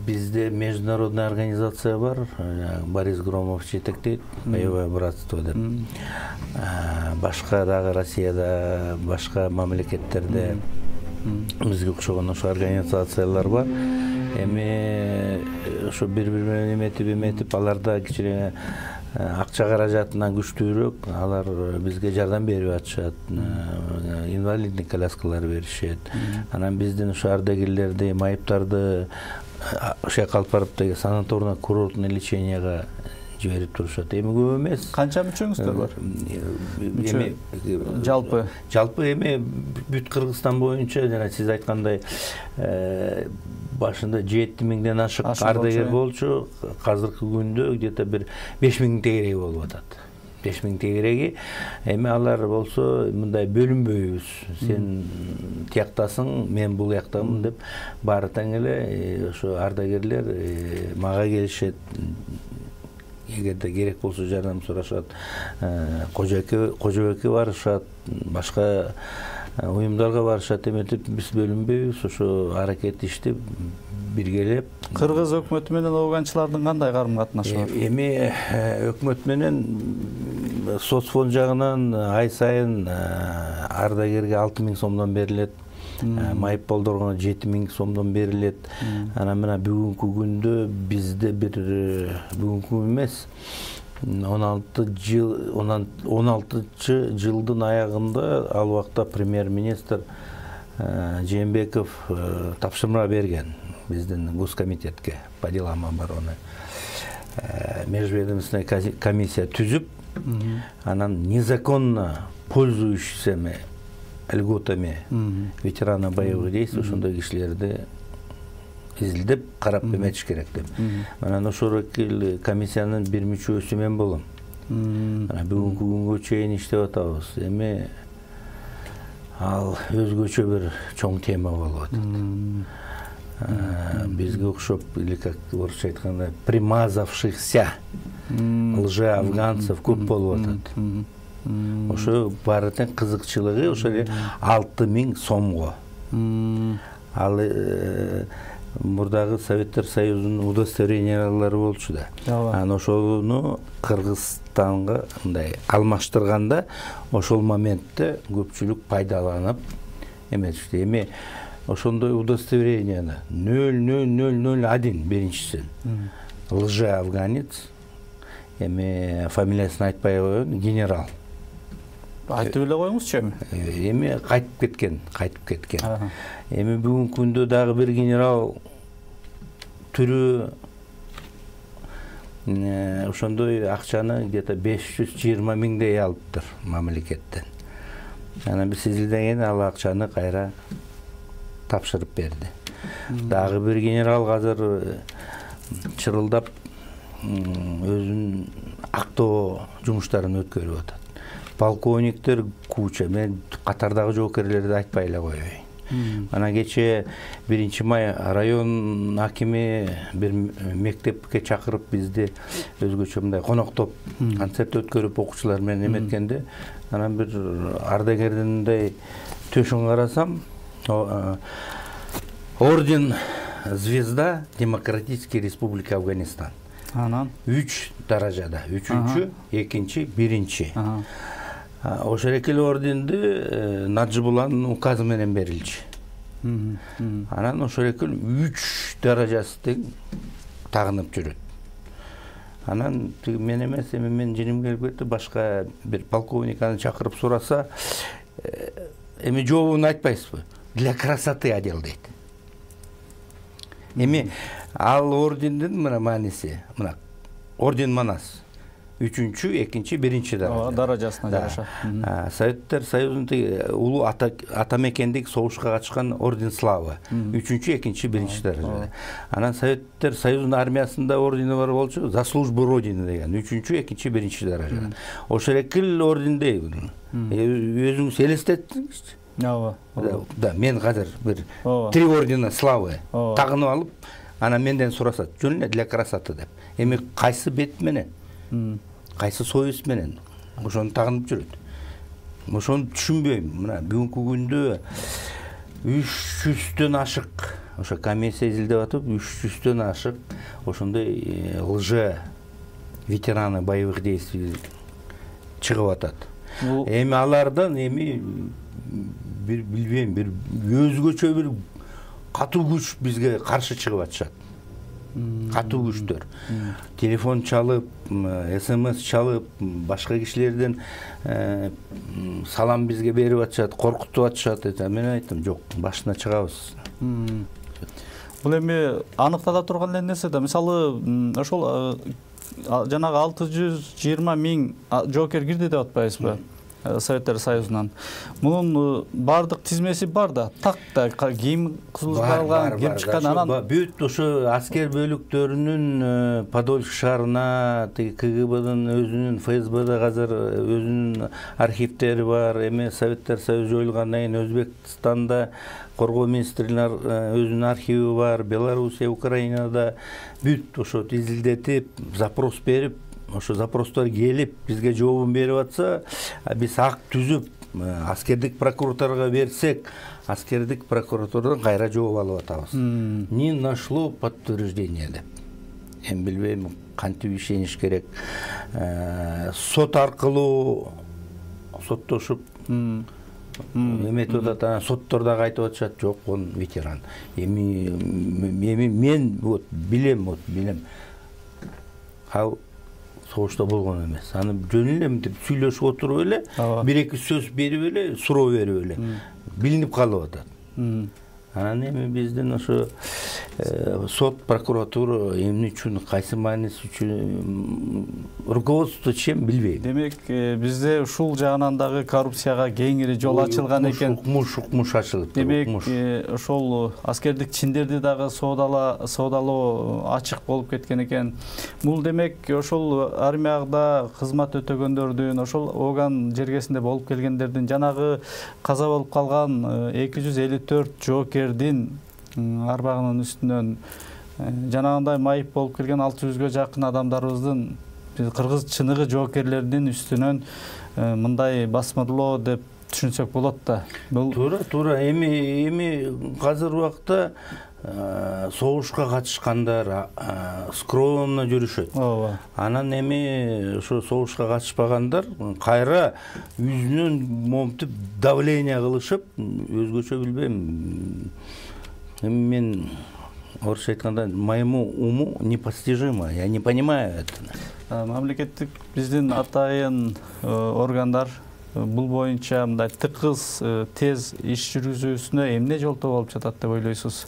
бизде международный организация бар, Борис Громов жетектейт, боевое братство деп. Башка дагы Россияда, башка мамлекеттерде бизге окшогон ошо организациялар бар. Эми ошо бири-бири менен эметип аларда кичине акча каражатынан күчтүүрөөк, алар бизге жардам берип атышат. Инвалидный коляскалар беришет. Анан биздин ошо ардагерлерди, майыптарды ошо алып барып санаторно курортный леченияга жиберип турушат. Эми көп эмес. Канча мүчөңүздөр бар? Эми жалпы эми бүт Кыргызстан боюнча жана сиз айткандай башында 7000ден ашык ардагер болчу. Азыркы күндө где-то бир 5000 тегереги болуп атат. 5000 тегереги. Эми алар болсо мындай бөлүнбөйбүз. Сен тияктасың, мен бул жактамын деп баары тең эле ошо ардагерлер мага келишет. Эгерде керек болсо жардам сурашат. Кожобекке барышат, башка уюмдарга барышат. Эметип биз бөлүнбөйбүз, ошо аракет иштеп биргелеп. Кыргыз өкмөтү менен афганчылардын кандай карым-катнашы бар? Эми өкмөт менен соцфонд жагынан ай сайын ардагерге 6000 сомдон берилет. Майып болдоргона 7000 сомдон берилет. Анан мына бүгүнкү күндө бизде бир бүгүнкү эмес 16 жылдын аягында ал убакта премьер-министр Жээнбеков тапшырма берген биздин Госкомитетке по делам обороны. Межведомственная комиссия түзүп, анан незаконно пользующийся льготами ветерана боевых действий ошондой кишилерди изилдеп карап эметиш керек деп. Анан ошол комиссиянын бир мүчөсү мен болом. Анан бүгүнкү күнгө чейин иштеп атабыз. Эми ал өзгөчө бир чоң тема болуп атат. Бизге окшоп, или как орусча айтканда, примазавшихся лже-афганцев көп болуп атат. Ошо баары тең кызыкчылыгы ошо 6000 сомго. Ал мурдагы Советтер Союзунун удостоверениялары болчу да. Анан ошону Кыргызстанга мындай алмаштырганда ошол моментте көпчүлүк пайдаланып эметишти. Эми ошондой удостоверенияны 0001 биринчиси лже-афганец, эми фамилиясын айтпай коеюн, генерал. Айтып эле коюңузчу эми. Эми кайтып кеткен. Эми бүгүнкү күндө дагы бир генерал түрү ошондой акчаны где-то 520 миңдей алыптыр мамлекеттен. Анан биз изилдеген ал акчаны кайра тапшырып берди. Дагы бир генерал азыр чырылдап өзүнүн актоо жумуштарын өткөрүп атат. Полковниктер куча, мен катардагы жоокерлерди айтпай эле коеюн. Анан кече 1-май район акими бир мектепке чакырып бизди өзгөчө мындай коноктоп концерт өткөрүп окуучулар менен эметкенде, анан бир ардагердиндей төшүн карасам, орден Звезда Демократической Республики Афганистан. Анан 3 даражада, 3-чү, 2-чи, 1-чи. Ошол эле орденди Наджибулланын указы менен берилчү. Анан ошол эле 3 даражасы тең тагынып жүрөт. Анан мен эмес, эми мен жиним келип кетти, башка бир полковник аны чакырып сураса, эми жообун айтпайсызбы? Для красоты одел дейт. Эми ал ордендин мына мааниси, мына орден манас. 3-чү, 2-чи, 1-чи даражасына жараша. Советтер Союзунун улуу атамекендик согушка катышкан орден славы. 3-чү, 2-чи, 1-чи даражада. Анан Советтер Союзунун армиясында ордени бар болчу, за службу Родины деген 3-чү, 2-чи, 1-чи даражада. Ошол эле ордендей. Өзүңүз элестеттиңизчи? Да, мен азыр бир 3 ордена славы тагынып алып, анан менден сурасат, жөн эле для красоты деп. Эми кайсы бет менен? Кайсы союз менен ошону тагынып жүрөт. Ошону түшүнбөйм. Мына бүгүнкү күндө 300дөн ашык ошо комиссия изилдеп атып, 300дөн ашык ошондой лже ветераны боевых действий чыгып атат. Эми алардан бир билбейм, бир өзгөчө бир катуу күч бизге каршы чыгып атышат. Катуу күчтөр. Телефон чалып, СМС чалып, башка кишилерден салам бизге берип атышат, коркутуп атышат. Мен айттым, жок, башына чыгабыз. Бул эми аныктала турган эле нерсе да. Мисалы, ошол жанагы 620 миң жоокер кирди деп атпайсызбы? Советтер Союзунан. Мунун бардык тизмеси бар да, так да кийим кылган, кирип чыккан анан бүт ошо аскер бөлүктөрүнүн Подольск шаарына, КГБдын өзүнүн, ФСБда азыр өзүнүн архивдери бар. Эми Советтер Союзу жоюлгандан кийин Өзбекстанда коргоо министрлигинин өзүнүн архиви бар, Белоруссия, Украинада бүт ошо изилдетип, запрос берип, ошо запростор келип бизге жообун берип атса, биз акт түзүп аскердик прокуратурага берсек, аскердик прокуратурадан кайра жооп алып атабыз. Не нашло подтверждение деп. Эми билбейм кантип ишениш керек. Сот аркылуу соттошуп эметип атат, соттор дагы айтып атышат, жок, он ветеран. Эми мен вот билем. Согушта болгон эмес. Аны жөн эле мынтип сүйлөшүп отуруп эле, бир-эки сөз берип эле, суроо берип эле билинип калып атат. Анан эми биздин ошо сот, прокуратура эмне үчүн, кайсы мааниси үчүн руководство чем билбейм. Демек, бизде ушул жагынан дагы коррупцияга кеңири жол ачылган экен. Укмуш ачылып. Демек, ошол аскердик чиндерди дагы соодалоо ачык болуп кеткен экен. Бул демек ошол армияда кызмат өтөгөндөрдүн, ошол Оган жергесинде болуп келгендердин, жанагы каза болуп калган 254 жоокердин арбагынын үстүнөн жанагындай майып болуп келген 600гө жакын адамдарыбыздын, кыргыз чыныгы жоокерлердин үстүнөн мындай басмырлоо деп түшүнсөк болот да. Туура. Эми азыр убакта согушка катышкандар скромно жүрүшөт. Анан эми ошо согушка катышпагандар кайра үзүнөн момтип давление кылышып, өзгөчө билбейм. Эми мен орусча айтканда, моему уму непостижимо, я не понимаю это. Мамлекеттик биздин атайын органдар бул боюнча мындай тыкыз, тез иш жүргүзүүсүнө эмне жолтоо болуп жатат деп ойлойсуз?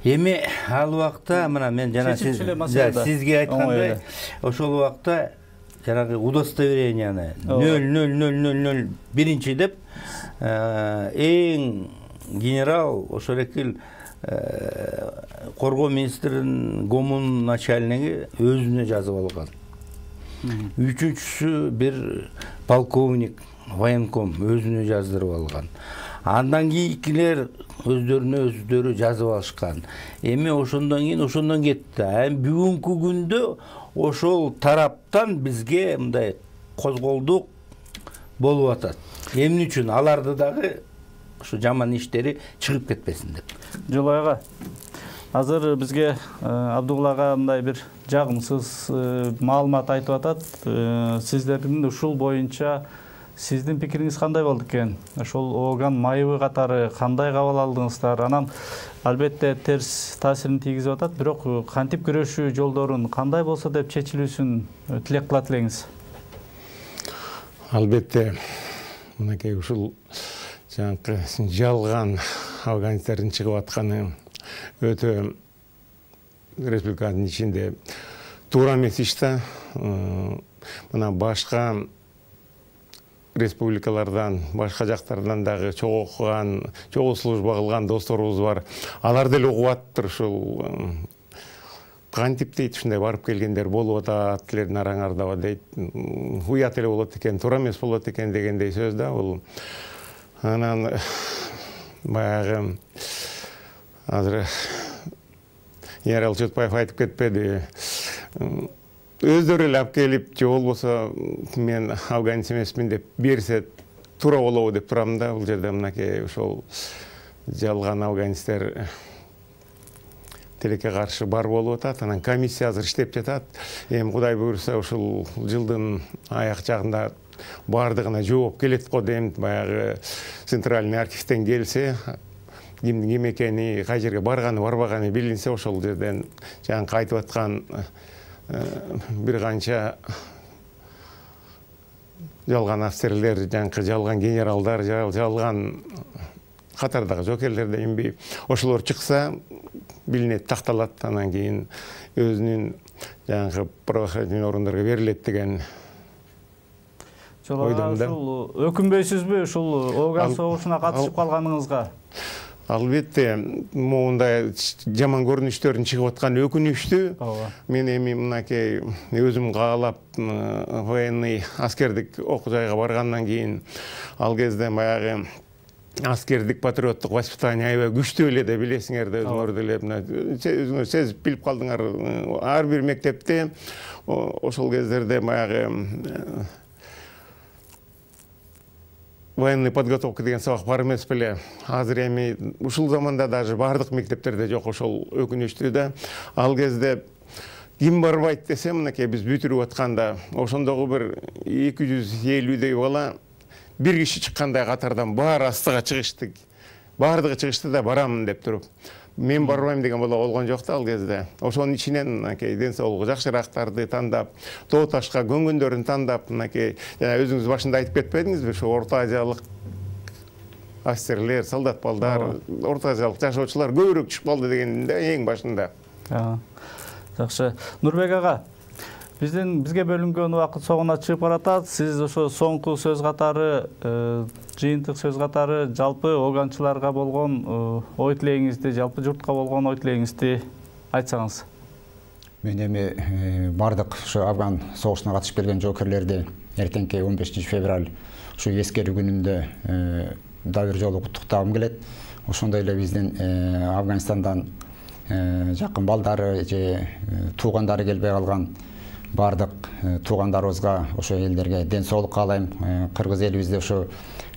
Эми ал убакта мына мен жана сизге айткандай, ошол убакта жанагы удостоверенияны 000001 деп эң генерал ошол эле коргоо министринин гомун начальниги өзүнө жазып алган. Үчүнчүсү бир полковник, военком өзүнө жаздырып алган. Андан кийинкилер өздөрүнө жазып алышкан. Эми ошондон кетти. Бүгүнкү күндө ошол тараптан бизге мындай козголдук болуп атат. Эмне үчүн? Аларды дагы ушу жаман иштери чыгып кетпесин деп. Жолой ага, азыр бизге Абдулла ага мындай бир жагымсыз маалымат айтып атат. Сиздердин ушул боюнча сиздин пикириңиз кандай болду экен? Ошол орган майыбы катары кандай кабыл алдыңыздар? Анан албетте терс таасирин тийгизип атат, бирок кантип күрөшүү жолдорун кандай болсо деп чечилүүсүн тилек кылат элеңиз? Албетте мынакей ушул жанакы жалган афганистердин чыгып атканы өтө республиканын ичинде туура эмес иш да. Мына башка республикалардан, башка жактардан дагы чогуу окуган, чогуу служба кылган досторубуз бар. Алар деле угуп атыптыр ушул кантип дейт, ушундай барып келгендер болуп атат, тилердин араңарда дейт. Уят эле болот экен, туура эмес болот экен дегендей сөз да бул. Анан баягы азыр Ярал Чотпаев айтып кетпеди. Өздөрү эле алып келип, же болбосо мен афганист эмесмин деп берсе туура болобу деп турам да. Бул жерде мынакей ошол жалган афганисттер тилекке каршы бар болуп атат. Анан комиссия азыр иштеп жатат. Эми Кудай буйрса ушул жылдын аяк жагында бардыгына жооп келет го дейм. Баягы центральный архивден келсе, кимдин ким экени, кай жерге барганы, барбаганы билинсе, ошол жерден жаңы айтып аткан бир канча жалган офицерлер, жаңы жалган генералдар, жалган катардагы жокерлер дейинби, ошолор чыкса билинет, такталат, анан кийин өзүнүн жаңы правоохранительный органдарга берилет деген ойдомун да. Ушул өкүнбөйсүзбү ушул Афган согушуна катышып калганыңызга? Албетте, моундай жаман көрүнүштөрдүн чыгып атканы өкүнүчтүү. Мен эми мынакей өзүм каалап военный аскердик окуу жайга баргандан кийин ал кезде баягы аскердик патриоттук воспитание аябай күчтүү эле да, билесиңер да, өзүңөр деле өзүңөр сезип билип калдыңар. Ар бир мектепте ошол кездерде баягы военный подготовка деген сабак бар эмес беле. Азыр эми ушул заманда даже бардык мектептерде жок, ошол өкүнүчтүү да. Ал кезде ким барбайт десе, мынакей биз бүтүрүп атканда ошондогу бир 250дей бала бир киши чыккандай катардан баары астыга чыгышты. Бардыгы чыгышты да барамын деп туруп. Мен барбайм деген бала болгон жок да ал кезде. Ошонун ичинен мынакей ден соолугу жакшыраактарды тандап, тоо ташка көнгөндөрүн тандап, мынакей жана өзүңүз башында айтып кетпедиңизби, ошо Орто Азиялык офицерлер, солдат балдар, Орто Азиялык жашоочулар көбүрөөк чыгып калды деген да эң башында. Жакшы. Нурбек ага, бизге бөлүнгөн убакыт соңуна чыгып баратат. Сиз ошо соңку сөз катары, жыйынтык сөз катары жалпы оганчыларга болгон ой тилегиңизди, жалпы журтка болгон ой тилегиңизди айтсаңыз. Мен эми бардык ошо Афган согушуна катышып келген жоокерлерди эртеңки 15 февраль ушу эскерүү күнүндө дагы бир жолу куттуктагым келет. Ошондой эле биздин Афганистандан жакын балдары же туугандары келбей калган бардык туугандарыбызга, ошо элдерге ден соолук каалайм. Кыргыз элибизде ошо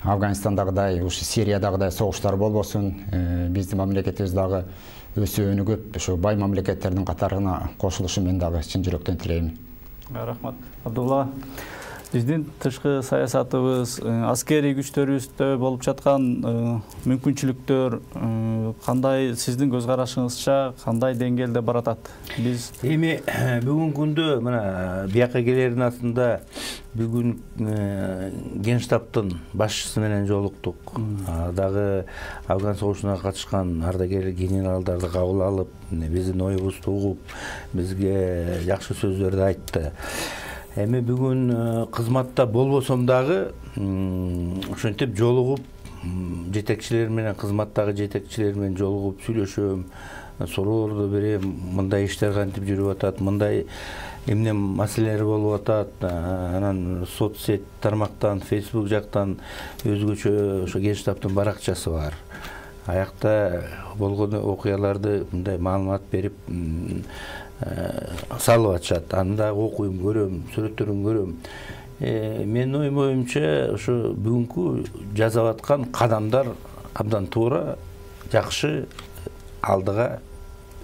Афганистандагыдай, ушу Сириядагыдай согуштар болбосун. Биздин мамлекетибиз дагы өсүп өнүгүп, ошо бай мамлекеттердин катарына кошулушун мен дагы чын жүрөктөн тилейм. Рахмат. Абдулла, биздин тышкы саясатыбыз, аскерий күчтөрүбүздө болуп жаткан мүмкүнчүлүктөр кандай, сиздин көз карашыңызча кандай деңгээлде баратат? Биз эми бүгүнкү күндө мына бияка келердин астында бүгүн Генштабтын башчысы менен жолуктук. Дагы Афган согушуна катышкан ардагер генералдарды кабыл алып, биздин оюбузду угуп, бизге жакшы сөздөрдү айтты. Эми бүгүн кызматта болбосом дагы ошентип жолугуп, жетекчилер менен, кызматтагы жетекчилер менен жолугуп сүйлөшөм, суроолорду берем, мындай иштер кантип жүрүп атат, мындай эмне маселелер болуп атат. Анан соцсет тармактан, Facebook жактан өзгөчө ошо Генштабтын баракчасы бар. Аякта болгон окуяларды мындай маалымат берип салып атышат. Анда окуйм, көрөм, сүрөттөрүн көрөм. Менин оюмча ошо бүгүнкү жасап аткан кадамдар абдан туура, жакшы, алдыга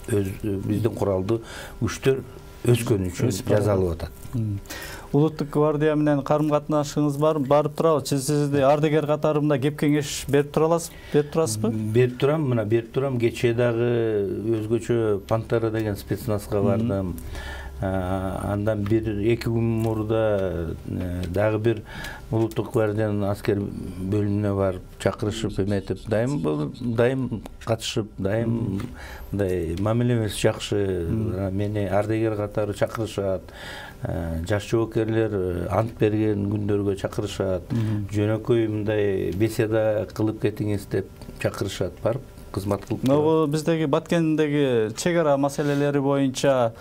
биздин куралдуу күчтөр өскөн үчүн жазалып атат. Улуттук гвардия менен карым катнашыңыз барып турабы? Сизди ардагер катарында кеп кеңеш берип турасызбы? Берип турам, мына берип турам. Кечээ дагы өзгөчө Пантера деген спецназга бардым. Андан 1-2 күн мурда дагы бир улуттук гвардиянын аскер бөлүмүнө барып чакырышып эметип, дайым катышып, дайым мындай мамилемес жакшы. Мени ардагер катары чакырышат. Жаш жоокерлер ант берген күндөргө чакырышат. Жөнөкөй мындай беседа кылып кетиңиз деп чакырышат, барып кызмат кылып. Могу биздеги Баткендеги чек ара маселелери боюнча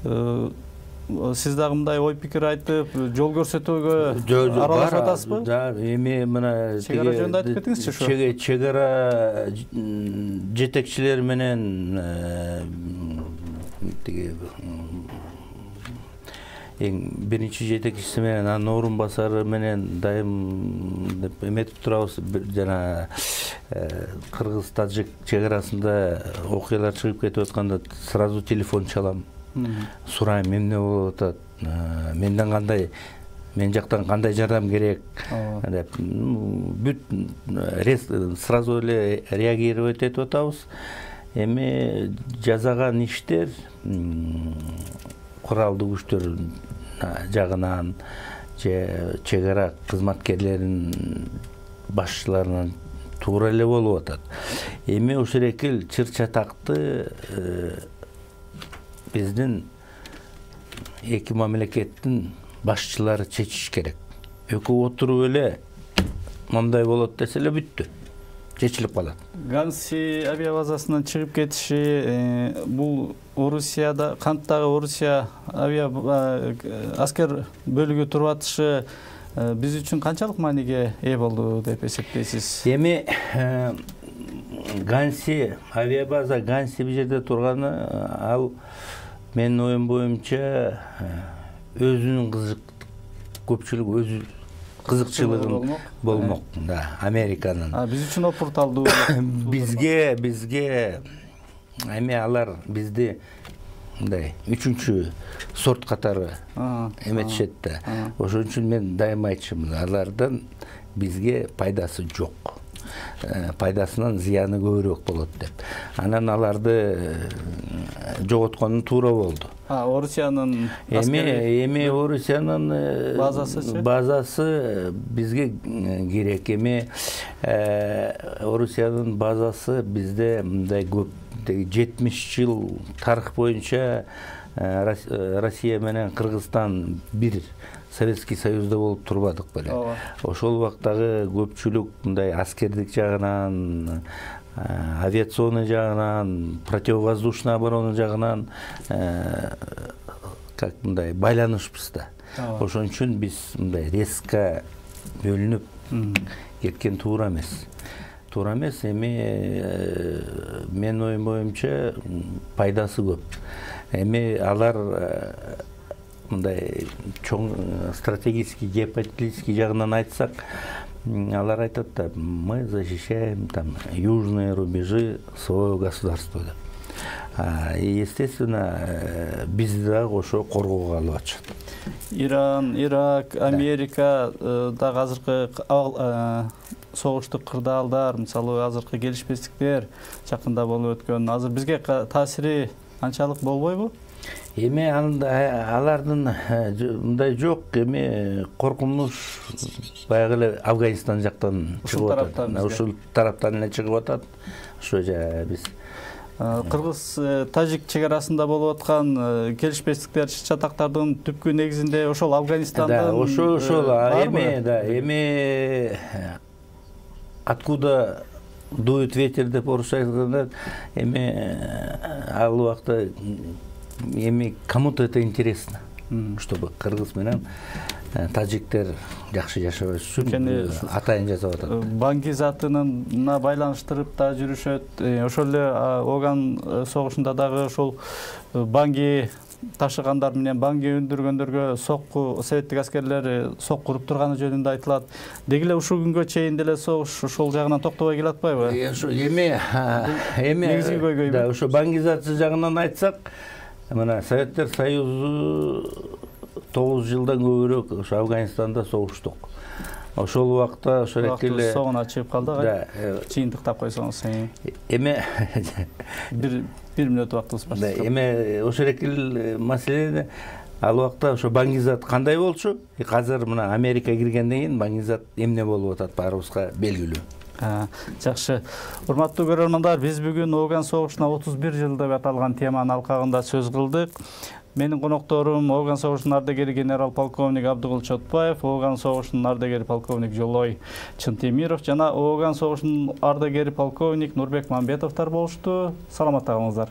сиз дагы мындай ой пикир айтып, жол көрсөтүүгө аралашып атасызбы? Да, эми мына чек ара жөнүндө айтып кетиңизчи ушу. Чек ара жетекчилер менен тиги эң биринчи жетекчиси менен анын орун басары менен дайым деп эметип турабыз. Жана кыргыз-тажик чек арасында окуялар чыгып кетип атканда сразу телефон чалам. Сурайм, эмне болуп атат, менден кандай, мен жактан кандай жардам керек деп бүт сразу эле реагировать этип атабыз. Эми жасаган иштер куралдуу күчтөр жагынан же чек ара кызматкерлеринин башчыларынан туура эле болуп атат. Эми ушул экил чыр-чатакты биздин эки мамлекеттин башчылары чечиш керек. Экөө отуруп эле мындай болот десе эле бүттү. Чечилип калат. Ганси авиабазасынан чыгып кетиши, бул Орусияда, канттагы Орусия аскер бөлүгү туруп атышы биз үчүн канчалык мааниге ээ болду деп эсептейсиз? Эми Ганси авиабаза, Ганси бул жерде турганы, ал менин оюм боюнча өзүнүн көпчүлүк өзү кызыкчылыгын болмок. Да, Американын. Биз үчүн опурталдуу. Бизге эми алар бизди мындай үчүнчү сорт катары эметишет да. Ошон үчүн мен дайыма айтчумун, алардан бизге пайдасы жок. Пайдасынан зыяны көбүрөөк болот деп. Анан аларды жоготкону туура болду. Орусиянын эми Орусиянын базасы бизге керек. Эми Орусиянын базасы бизде мындай көп 70 жыл тарых боюнча Россия менен Кыргызстан бир Советский Союзда болуп турбадык беле. Ошол убактагы көпчүлүк мындай аскердик жагынан, авиационный жагынан, противовоздушный оборона жагынан как мындай байланышпыз да. Ошон үчүн биз мындай резко бөлүнүп кеткен туура эмес. Туура эмес. Эми мен оюм боюнча пайдасы көп. Эми алар мындай чоң стратегический, геополитический жагынан айтсак, алар айтат да, мы защищаем там южные рубежи своего государства деп. И естественно бизди дагы ошо коргоого алып атышат. Иран, Ирак, Америка дагы азыркы согуштук кырдаалдар, мисалы азыркы келишпестиктер жакында болуп өткөн, азыр бизге таасири канчалык болбойбу? Эми алардын мындай жок, эми коркунуч баягы эле Афганистан жактан чыгып атат. Ушул тараптан эле чыгып атат. Ошо жа биз Кыргыз-тажик чек арасында болуп аткан келишпестиктер, чатактардын түпкү негизинде ошол Афганистандан. Ошол эми откуда дует ветер деп орусча айтканда, эми ал убакта эми кому-то это интересно, чтобы кыргыз менен тажиктер жакшы жашабаш үчүн атайын жасап атат. Банги затына байланыштырып да жүрүшөт. Ошол эле Оган согушунда дагы ошол Банги ташыгандар менен банги өндүргөндөргө сокку советтик аскерлер сокку уруп турганы жөнүндө айтылат. Деги эле ушул күнгө чейин деле согуш ошол жагынан токтобой келатпайбы? Ошо негизги көйгөй. Да, ошо бангизация жагынан айтсак, мына Советтер Союзу 9 жылдан көбүрөөк ошо Афганистанда согуштук. Ошол убакта ошо эле согуна чыгып калдык. Да, чыйынтыктап койсоңуз. Эме бир мүнөт убактыбыз бар. Эме ошо эле маселе ал убакта ошо баңгизат кандай болчу? Азыр мына Америка киргенден кийин баңгизат эмне болуп атат баарыбызга белгилүү. Жакшы. Урматтуу көрөрмандар, биз бүгүн Ооган согушуна 31 жыл деп аталган теманын алкагында сөз кылдык. Менин конокторум Ооган согушунун ардагери генерал-полковник Абдыгул Чотбаев, Ооган согушунун ардагери полковник Жолой Чынтемиров жана Ооган согушунун ардагери полковник Нурбек Мамбетовдор болушту. Саламатта калыңыздар.